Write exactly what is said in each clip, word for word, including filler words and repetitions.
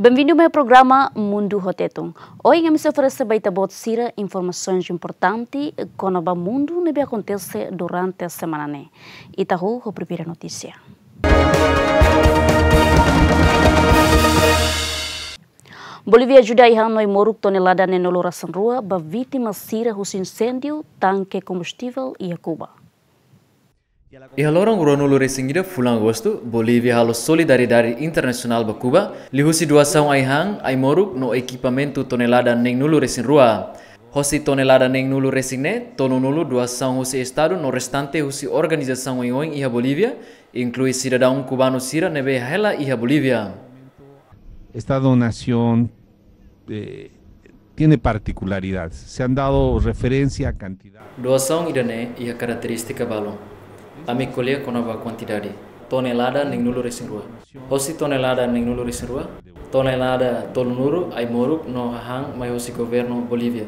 Benvindu mai programa Mundu ho Tetun. Ohin ami sei oferese ba ita-boot sira informasaun importante kona-ba mundu ne'ebé akontese durante semana ne'e. Ita hahú ho primeira notísia. Bolívia ajuda ai-han no ai-moruk tonelada neen-nulu resin rua ba vítima sira husi inséndiu tanke kombustivel iha Kuba. Iha loron ruanulu resin ida fulan Agostu, Bolívia halo solidariedade internasionál ba Kuba, liuhusi doasaun ai-han, ai-moruk no ekipamentu tonelada neen-nulu resin rua. Hosi tonelada neen-nulu resin ne'e, tolunulu doasaun husi Estadu no restante husi organizasaun oioin iha Bolívia, inklui sidadaun kubanu sira ne'ebé hela iha Bolívia. Esta donación, eh, tiene particularidades. Se han dado referencia a cantidad. Doasaun ida-ne'e iha karakterístika balun. Ami ko'alia kona-ba kuantidade. Tonelada neen-nulu resin rua. Hosi tonelada neen-nulu resin rua, tonelada tolunulu ai-moruk no hahán mai hosi governu Bolívia.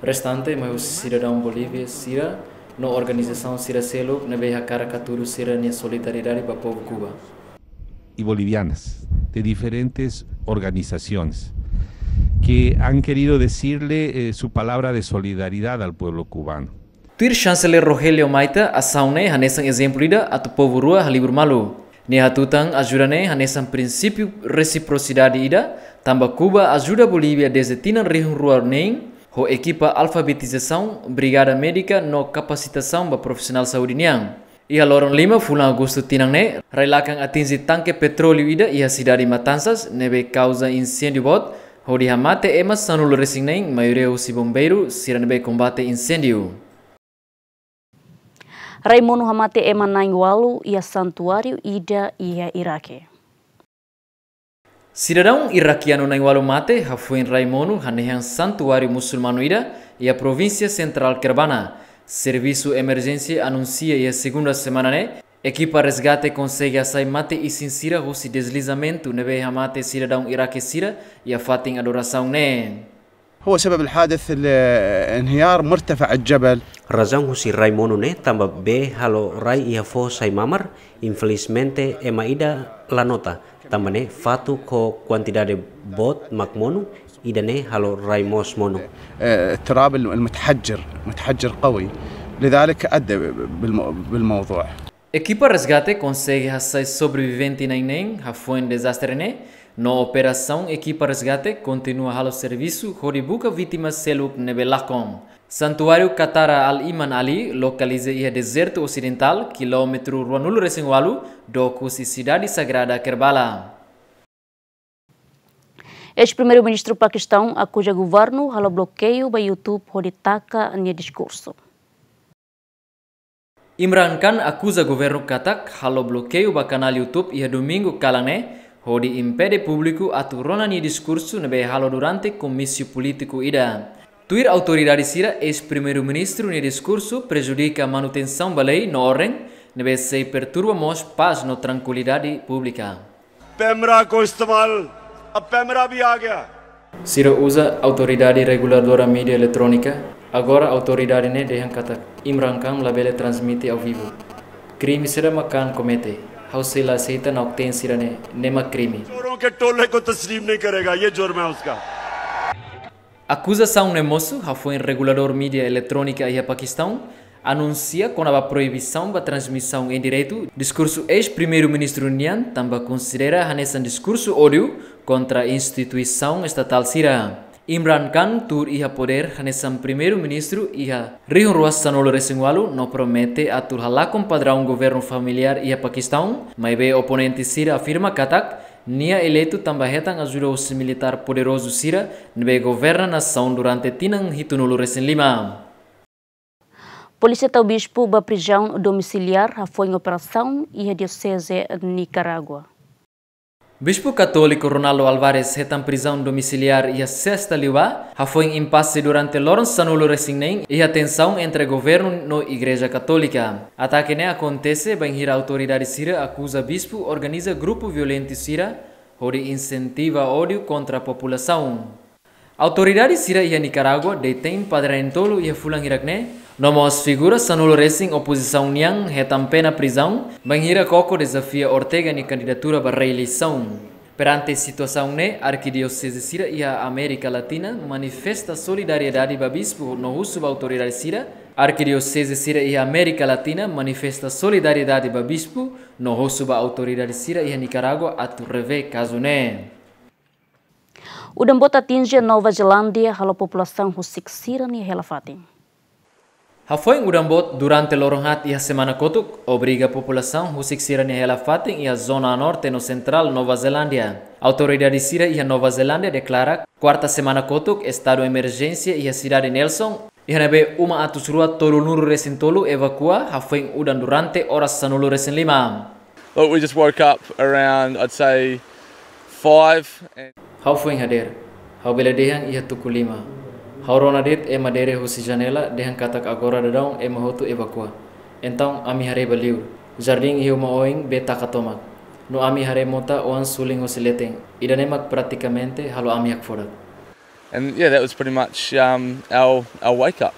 Restante mai hosi sidadaun Bolívia sira no organizasaun sira seluk ne'ebé hakarak hatudu sira-nia solidariedade ba povu Kuba. Y bolivianas de diferentes organizaciones que han querido decirle, eh, su palabra de solidaridad al pueblo cubano. Tuir Chanceler Rogelio Maita, asaun ne'e hanesan ezemplu ida atu povu rua halibur malu. Nia hatutan ajuda ne'e hanesan prinsípiu resiprosidade ida, tanba Kuba ajuda Bolívia dezde tinan rihun rua neen, ho ekipa alfabetizasaun, brigada médika no kapasitasaun ba profisionál saúde nian. Iha loron lima fulan Agostu tinan ne'e, rai-lakan atinje tanke petróleu ida iha sidade Matanzas, ne'ebé kauza inséndiu boot, hodi hamate ema sanulu resin neen, maioria husi bombeiru, sira ne'ebé kombate inséndiu. Rai monu hamate ema na'in-ualu iha santuáriu ida iha Iraque. Sidadaun irakianu na'in-ualu mate hafoin rai monu hanehan santuáriu musulmanu ida iha provínsia sentrál Kerbala. Servisu emerjénsia anunsia iha segunda semana ne'e, ekipa resgate konsege hasai mate-isin sira husi deslizamentu ne'ebé hamate sidadaun Iraque sira iha fatin adorasaun ne'e. هو سبب الحادث الانهيار مرتفع الجبل. Razaun husi rai monu ne'e tanba bee halo rai iha foho sai mamar, infelizmente ema ida la nota, tanba ne'e fatuk ho kuantidade boot mak monu, ida-ne'e halo rai moos monu. آه، التراب المتحجر، متحجر قوي، لذلك أدى بالمو-، بالموضوع. Ekipa resgate konsege hasai sobrevivente na'in neen hafoin dezastre ne'e, no operasaun ekipa resgate kontinua halo servisu hodi buka vítima seluk ne'ebé lakon. Santuáriu Katara Al-Iman Ali lokaliza iha dezertu osidentál, kilómetru ruanulu resin ualu dook husi sidade sagrada Kerbala. Eis-Primeiru-Ministru Pakistaun akuza governu halo blokeiu ba YouTube hodi taka nia diskursu. Imran Khan akuza governu katak halo blokeiu ba kanál YouTube iha Domingu kalan ne'e, hodi impede públiku atu rona nia diskursu ne'ebé halo durante komísiu polítiku ida. Tuir autoridade sira, eis-Primeiru-Ministru nia diskursu prejudika manutensaun ba lei no orden, ne'ebé sei perturba mós pás no trankuilidade públika. PEMRA को इस्तेमाल, अब पैमरा भी आ गया। Sira uza Autoridade Reguladora Mídia Eletrónika, agora autoridade ne'e dehan katak Imran Khan labele transmite ao vivo. Krime saida mak Khan komete, ha'u sei la aseita nauk-teen sira-ne'e, ne'e mak krime. चोरों के टोले को तस्लीम नहीं करेगा, ये जुर्म है उसका। Akuzasaun ne'e mosu hafoin reguladór mídia eletrónika iha Pakistaun anunsia kona-ba proibisaun ba transmisaun en diretu diskursu eis-Primeiru-Ministru nian, tanba konsidera hanesan diskursu ódiu kontra instituisaun estatál sira. Imran Khan tuur iha podér hanesan Primeiru-Ministru iha rihun rua sanulu resin ualu no promete atu halakon padraun governu familiár iha Pakistaun, maibé oponente sira afirma katak nia eleitu tanba hetan ajuda husi militár poderozu sira ne'ebé governa nasaun durante tinan hitunulu resin lima. Polísia tau bispu ba prizaun domisiliár hafoin operasaun iha dioseze Nicarágua. Bispu Katóliku Ronaldo Álvares hetan prizaun domisiliár iha sesta liubá, hafoin impase durante loron sanulu resin neen iha tensaun entre governu no Igreja Katólika. Atake ne'e akontese bainhira autoridade sira akuza bispu organiza grupu violentu sira hodi insentiva ódiu kontra populasaun. Autoridade sira iha Nicarágua detein padre neen-tolu iha fulan hirak ne'e, no mós figura sanulu resin opozisaun nian hetan pena prizaun, bainhira koko dezafia Ortega nia kandidatura ba reeleisaun. Perante situasaun ne'e, arkidioseze sira iha Amérika Latina manifesta solidariedade ba bispu no husu ba autoridade sira. Arkidioseze sira iha Amérika Latina manifesta solidariedade ba bispu no husu ba autoridade sira iha Nikarágua atu revee kazu ne'e. Udan boot atinje Nova Zelándia halo populasaun husik sira-nia hela fatin. Hafoin udan boot durante loron haat iha semana kotuk, obriga populasaun husik sira-nia hela fatin iha zona norte no sentrál Nova Zelándia. Autoridade sira iha Nova Zelándia deklara kuarta semana kotuk estadu emerjénsia iha sidade Nelson, iha ne'ebé uma atus rua tolunulu resin tolu evakua hafoin udan durante oras sanulu resin lima. Look, we just woke up around, I'd say, five. And ha'u foin hadeer, ha'u bele dehan iha tuku lima. Ha'u rona de'it ema dere husi janela, dehan katak agora daudaun ema hotu evakua. Entaun ami haree ba liur. Jardín iha uma oin bee taka tomak. No ami haree mota oan sulin hosi leten. Ida-ne'e mak pratikamente halo ami hakfodak. And yeah, that was pretty much, um, our, our wake up.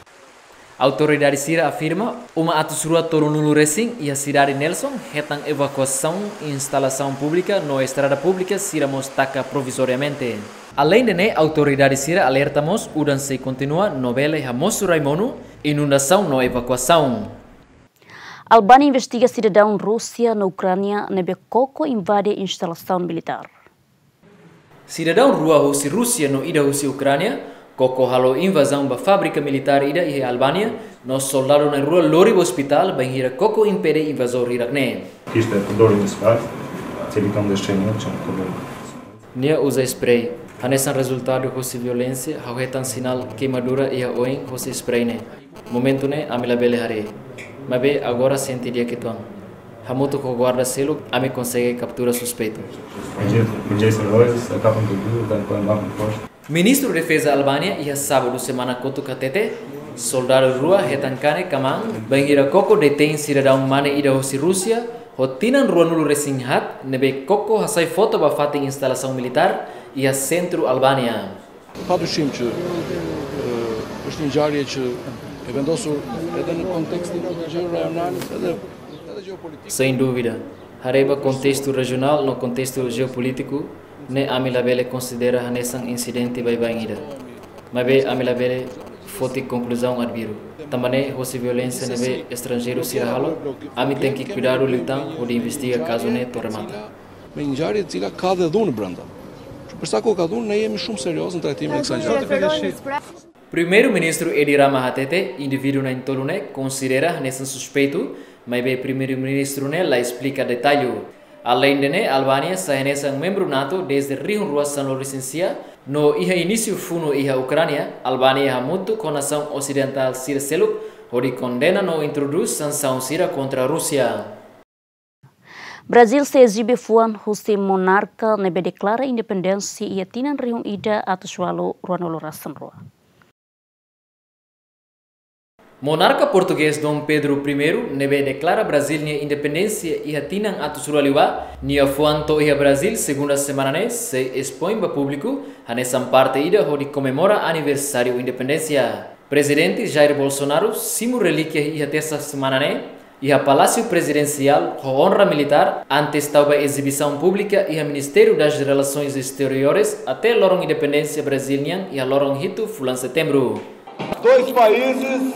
Autoridade sira afirma, uma atus rua tolunulu resin iha sidade Nelson hetan evakuasaun, instalasaun públika no estrada públika sira mós taka provizoriamente. Aleinde ne'e, autoridade sira alerta mós, udan sei kontinua no bele hamosu rai monu, inundasaun no evakuasaun. Albánia investiga sidadaun Rúsia no Ukránia ne'ebé koko invade instalasaun militár. Sidadaun rua husi Rúsia no ida husi Ukránia koko halo invazaun ba fábrika militár ida iha Albánia, no soldadu na'in-rua lori ba ospitál bainhira koko impede invazór hirak-ne'e. Isto é por dor nesse caso, se ele não deixa nenhum, tinha um problema. Nia uza spray. Hanesan rezultadu husi violénsia, ha'u hetan sinál keimadura iha oin husi spray ne'e. Momentu ne'e ami labele haree. Maibé agora sente di'ak uitoan. Hamutuk ho guarda seluk, ami konsege kaptura suspeitu. Podia, podia ser dois, acabam de vir, tem que andar com força. Ministru Defeza Albánia iha sábadu semana kotuk hatete, soldadu rua hetan kanek ka maan bainhira koko detein sidadaun mane ida husi Rúsia, ho tinan ruanulu resin haat, ne'ebé koko hasai foto ba fatin instalasaun militár iha sentru Albánia. Patriotim që, eh, është një ngjarje që e vendosur edhe në kontekstin e gjëra rajonale, edhe, edhe gjeopolitik. Sem dúvida, haree ba kontestu rejionál no kontestu jeopolítiku, ne'e ami labele konsidera hanesan insidente baibain ida. Maibé ami labele foti konkluzaun arbiru. Tanba ne'e, hosi violénsia ne'ebé estranjeiru sira halo, ami tenke kuidadu liután hodi investiga kazu ne'e to'o remata. Me një ngjarje e cila ka dhe dhunë brenda. Për sa kohë ka dhunë, ne jemi shumë serioz në trajtimin e kësaj ngjarje. Primeiru-Ministru Edi Rama hatete, indivíduu na'in-tolu ne'e konsidera hanesan suspeitu, maibé Primeiru-Ministru ne'e la esplika detallu. Aleinde ne'e, Albánia sai hanesan membru NATO dezde rihun rua sanulu resin sia, no iha inísiu funu iha Ukránia, Albánia hamutuk ho nasaun osidentál sira seluk, hodi kondena no introdús sansaun sira kontra Rúsia. Brazíl sei ezibe fuan husi monarka ne'ebé deklara independénsia iha tinan rihun ida atus ualu ruanulu resin rua. Monarka portugés Dom Pedro Primeiru, ne'ebé deklara Brazíl nia independénsia iha tinan atus rua liubá, nia fuan to'o iha Brazíl segunda semana ne'e, sei espoin ba públiku, hanesan parte ida hodi komemora aniversáriu independénsia. Prezidente Jair Bolsonaro simu relíkia iha tersa semana ne'e, iha Palásiu Prezidensiál ho onra militár, antes tau ba ezibisaun públika iha Ministériu das Relações Exteriores até loron independénsia Brazíl nian iha loron hitu fulan Setembru. Dois países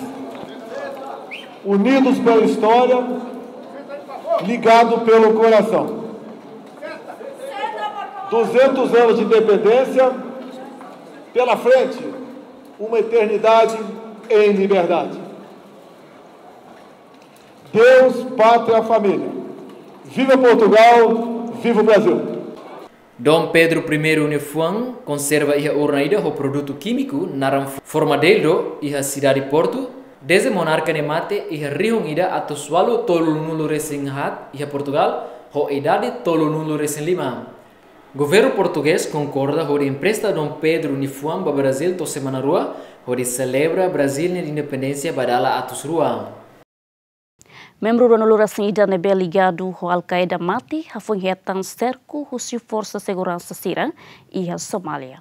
unidos pela história, ligados pelo coração. Duzentos anos de independência pela frente, uma eternidade em liberdade. Deus, pátria, família. Viva Portugal, viva o Brasil. Dom Pedro Primeiru nia fuan konserva iha urna ida ho produtu kímiku naran formaldehídu iha sidade Portu, dezde monarka nia mate iha rihun ida atus ualu tolunulu resin haat iha Portugal, ho idade tolunulu resin lima. Governu portugés konkorda hodi empresta Dom Pedro nia fuan ba Brazíl to'o semana rua, hodi selebra Brazíl nia independénsia ba dala atus rua. Membru ruanulu resin ida ne'ebé ligadu ho Al-Qaeda mate, hafoin hetan serku husi forsa seguransa sira iha Somália.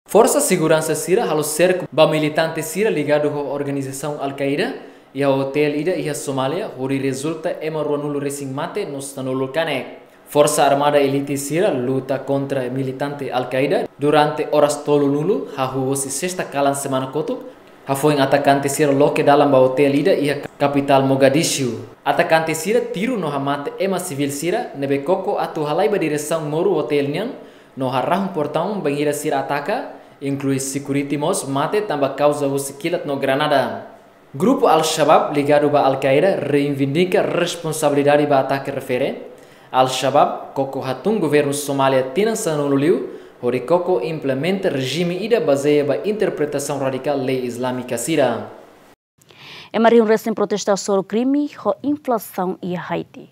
Forsa seguransa sira halo serku ba militante sira ligadu ho organizasaun Al-Qaeda iha otél ida iha Somália, hodi rezulta ema ruanulu resin mate no sanulu kanek. Forsa Armada Elite sira luta kontra militante Al-Qaeda durante oras tolunulu hahú hosi sesta kalan semana kotuk, hafoin atakante sira loke dalan ba otél ida iha kapitál Mogadishu. Atakante sira tiru no hamate ema sivíl sira ne'ebé koko atu halai ba diresaun moru otél nian no harahun portaun bainhira sira ataka, inklui security mós mate tanba kauza husi kilat no granada. Grupu Al-Shabaab ligadu ba Al-Qaeda reivindika responsabilidade ba atake refere. Al-Shabaab koko hatún governu Somália tinan sanulu liu, hodi koko implementa rejime ida bazeia ba interpretasaun radikál lei Islámika sira. Ema rihun resin protesta hasoru krime ho inflasaun iha Haiti.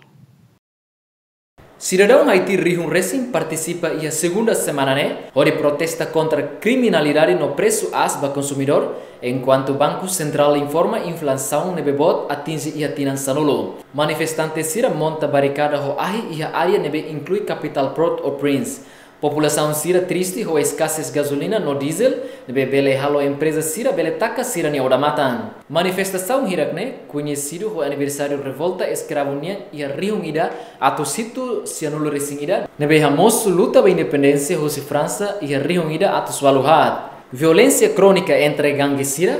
Sidadaun Haiti rihun resin partisipa iha segunda semana ne'e, hodi protesta kontra kriminalidade no presu aas ba konsumidór, enkuantu Banku Sentrál informa inflasaun ne'ebé boot atinje iha tinan sanulu. Manifestante sira monta barikada ho ahi iha área ne'ebé inklui kapitál Port-au-Prince. Populasaun sira triste ho eskasez gazolina no diesel, ne'ebé bele halo empreza sira bele taka sira-nia odamatan. Manifestasaun hirak-ne'e koñesidu ho aniversáriu revolta eskravu nian iha rihun ida atus hitu sianulu resin ida, ne'ebé hamosu luta ba independénsia husi Fransa iha rihun ida atus ualu haat. Violénsia krónika entre gange sira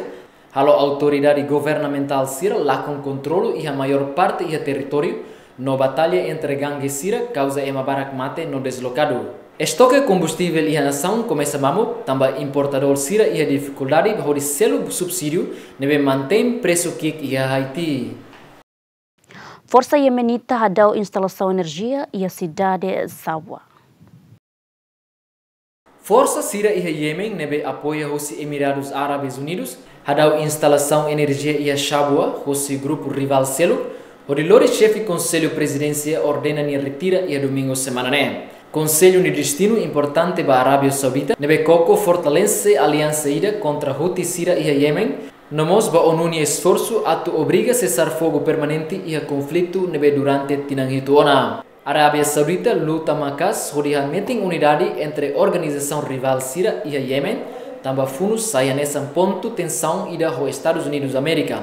halo autoridade governamentál sira lakon kontrolu iha maiór parte iha territóriu, no batalla entre gange sira kauza ema barak mate no deslokadu. Estoke kombustivel iha nasaun komesa mamuk, tanba importadór sira iha difikuldade hodi selu subsídiu ne'ebé mantein presu ki'ik iha Haiti. Forsa Yemenita hadau instalasaun enerjia iha sidade Shabwa. Forsa sira iha Yemen ne'ebé apoia husi Emiradus Árabes Unidus hadau instalasaun enerjia iha Shabwa husi grupu rivál seluk, hodi lori xefe Konsellu Prezidénsia ordena nia retira iha Domingu semana ne'e. Konsellu nia destinu importante ba Arábia Saudita, ne'ebé koko fortalese aliansa ida kontra Houthi sira iha Yemen, no mós ba ONU nia esforsu atu obriga sesar fogu permanente iha konflitu ne'ebé durante tinan hitu ona. Arábia Saudita luta maka'as hodi hametin unidade entre organizasaun rivál sira iha Yemen, tanba funu sai hanesan pontu tensaun ida ho Estadus Unidus Amérika.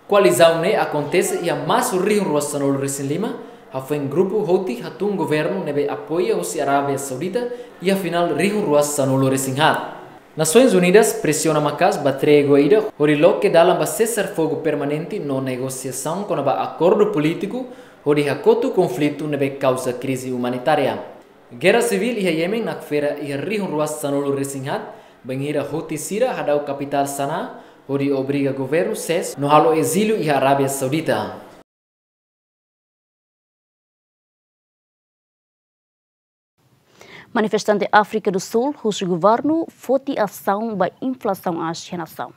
Koalizaun ne'e akontese iha marsu rihun rua sanulu resin lima, hafoin grupu Houthi hatún governu ne'ebé apoia husi Arábia Saudita iha finál rihun rua sanulu resin haat. Nasoins Unidas presiona maka'as ba trégua ida hodi loke dalan ba sesar fogu permanente no negosiasaun kona-ba akordu polítiku hodi hakotu konflitu ne'ebé kauza krize umanitária. Gerra sivíl iha Yemen nakfera iha rihun rua sanulu resin haat, bainhira Houthi sira hadau kapitál Sanaa, hodi obriga governu ses no halo ezíliu iha Arábia Saudita. Manifestante Áfrika do Sul husu governu foti asaun ba inflasaun aas iha nasaun.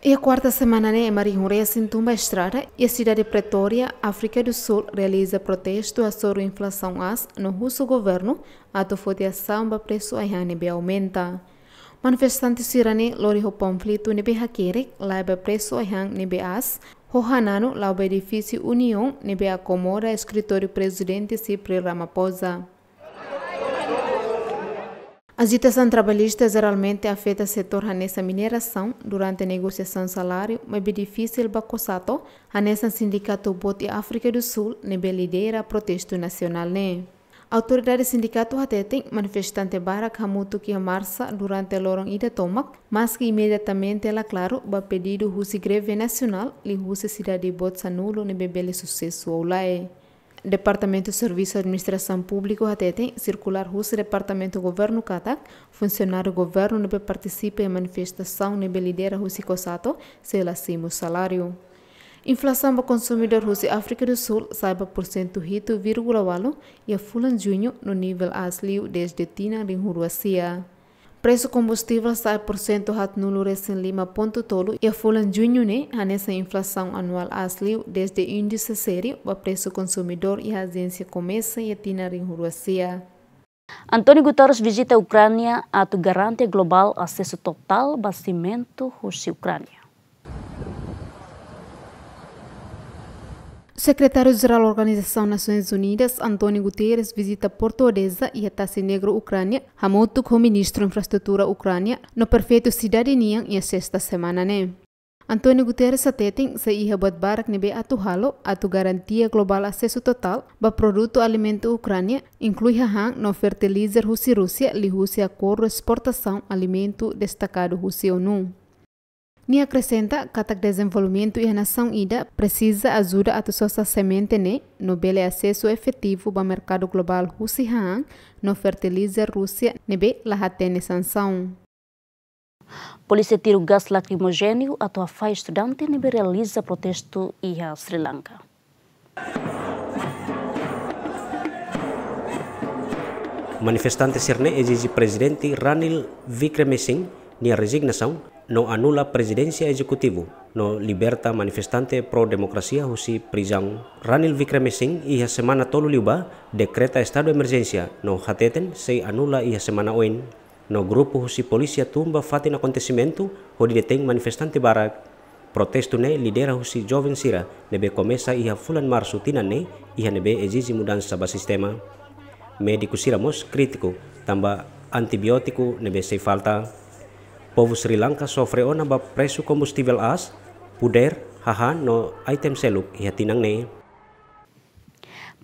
Iha kuarta semana ne'e, ema rihun resin tun ba estrada iha sidade Pretória, Áfrika do Sul, realiza protestu hasoru inflasaun aas no husu governu atu foti asaun ba presu ai-han ne'ebé aumenta. Manifestante sira-ne'e lori ho panfletu ne'ebé hakerek laiha ba presu ai-han ne'ebé aas, ho hananu la'o ba edifísiu União ne'ebé akomoda eskritóriu Prezidente Cyril Ramaphosa. Ajitasaun trabalhista jeralmente afeta setór hanesan minerasaun durante negosiasaun saláriu, maibé difisil ba COSATU, hanesan sindikatu boot iha Áfrika do Sul ne'ebé lidera protestu nasionál ne'e. Autoridade sindikatu hateten manifestante barak hamutuk iha marsa durante loron ida tomak, maski imediatamente la klaru ba pedidu husi greve nasionál liuhusi sidade boot sanulu ne'ebé bele susesu ou lae. Departamentu Servisu Administrasaun Públiku hateten sirkulár husi Departamentu Governu katak funsionáriu governu ne'ebé partisipa iha manifestasaun ne'ebé lidera husi COSATU sei la simu saláriu. Inflasaun ba konsumidór husi Áfrika do Sul sa'e ba porsentu hitu vírgula ualu iha fulan Juñu, no nivel aas liu dezde tinan rihun rua sia. Presu kombustivel sa'e porsentu haatnulu resin lima pontu tolu iha fulan Juñu ne'e, hanesan inflasaun anuál aas liu dezde índise sériu ba presu konsumidór iha ajénsia komesa iha tinan rihun rua sia. António Guterres vizita Ukránia atu garante globál asesu totál ba simentu husi Ukránia. Sekretáriu Jerál Organizasaun Nasoins Unidas, António Guterres, vizita Portu Odesa iha tasi negru Ukránia, hamutuk ho Ministru Infraestrutura Ukránia no prefeitu sidade nian iha sesta semana ne'e. António Guterres hateten sei iha buat barak ne'ebé atu halo atu garantia globál asesu totál ba produtu alimentu Ukránia, inklui hahán no fertilizer husi Rúsia, liuhusi akordu esportasaun alimentu destakadu husi ONU. Nia akresenta katak dezenvolvimentu iha nasaun ida presiza ajuda atu sosa semente ne'e no bele asesu efetivu ba merkadu globál husi hahán no fertilizer Rúsia ne'ebé la hatene sansaun. Polísia tiru gás lakrimojéneu atu hafahe estudante ne'ebé realiza protestu iha Sri Lanka. Manifestante sira-ne'e ezije Prezidente Ranil Wickremesinghe nia rezignasaun no anula prezidénsia ezekutivu no liberta manifestante pro-demokrasia husi prizaun. Ranil Wickremesinghe iha semana tolu liubá dekreta estadu emerjénsia no hateten sei anula iha semana oin. No grupu husi polísia tun ba fatin akontesimentu hodi detein manifestante barak. Protestu ne'e lidera husi joven sira ne'ebé komesa iha fulan Marsu tinan ne'e, iha ne'ebé ezije mudansa ba sistema. Médiku sira mós krítiku tanba antibiótiku ne'ebé sei falta. Povu Sri Lanka sofre ona ba presu kombustivel aas, puder, hahán no item seluk iha tinan ne'e.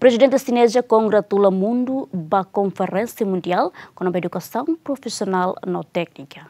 Prezidente Xineza kongratula mundu ba konferénsia mundiál kona-ba edukasaun profisionál no téknika.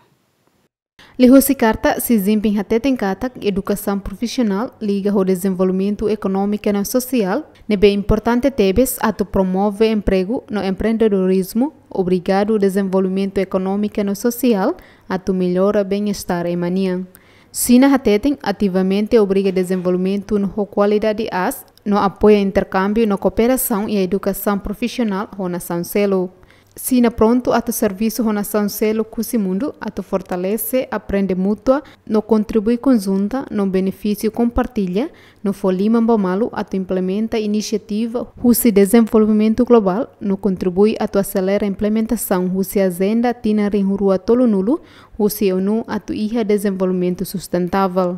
Liuhusi karta, Xi Jinping hateten katak edukasaun profisionál liga ho dezenvolvimentu ekonómiku no sosiál, ne'ebé importante tebes atu promove empregu no empreendedorizmu, obrigadu dezenvolvimentu ekonómiku no sosiál atu mellora bem-estar ema nian. Xina hateten ativamente obriga dezenvolvimentu no ho kualidade aas, no apoia interkámbiu no kooperasaun iha edukasaun profisionál ho nasaun seluk. Xina prontu atu servisu ho nasaun seluk husi mundu atu fortalese aprende mútua no kontribui konjunta no benefísiu kompartilla, no fó liman ba malu atu implementa inisiativa husi dezenvolvimentu globál, no kontribui atu aselera implementasaun husi ajenda tinan rihun rua tolunulu husi ONU atu iha dezenvolvimentu sustentável.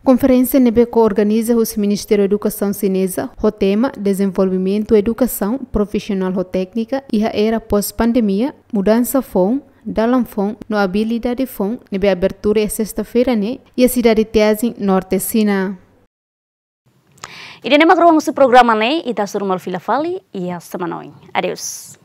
Konferénsia ne'ebé ko-organiza husi Ministériu Edukasaun Xineza, ho tema Dezenvolvimentu Edukasaun Profisionál ho Téknika iha Era Pós-Pandemia, Mudansa Foun, Dalan Foun no Abilidade Foun, ne'ebé abertura iha sesta-feira ne'e iha sidade Tianjin, norte Xina. Ida-ne'e mak ruang husi programa ne'e, ita hasoru malu fila fali iha semana oin. Adeus.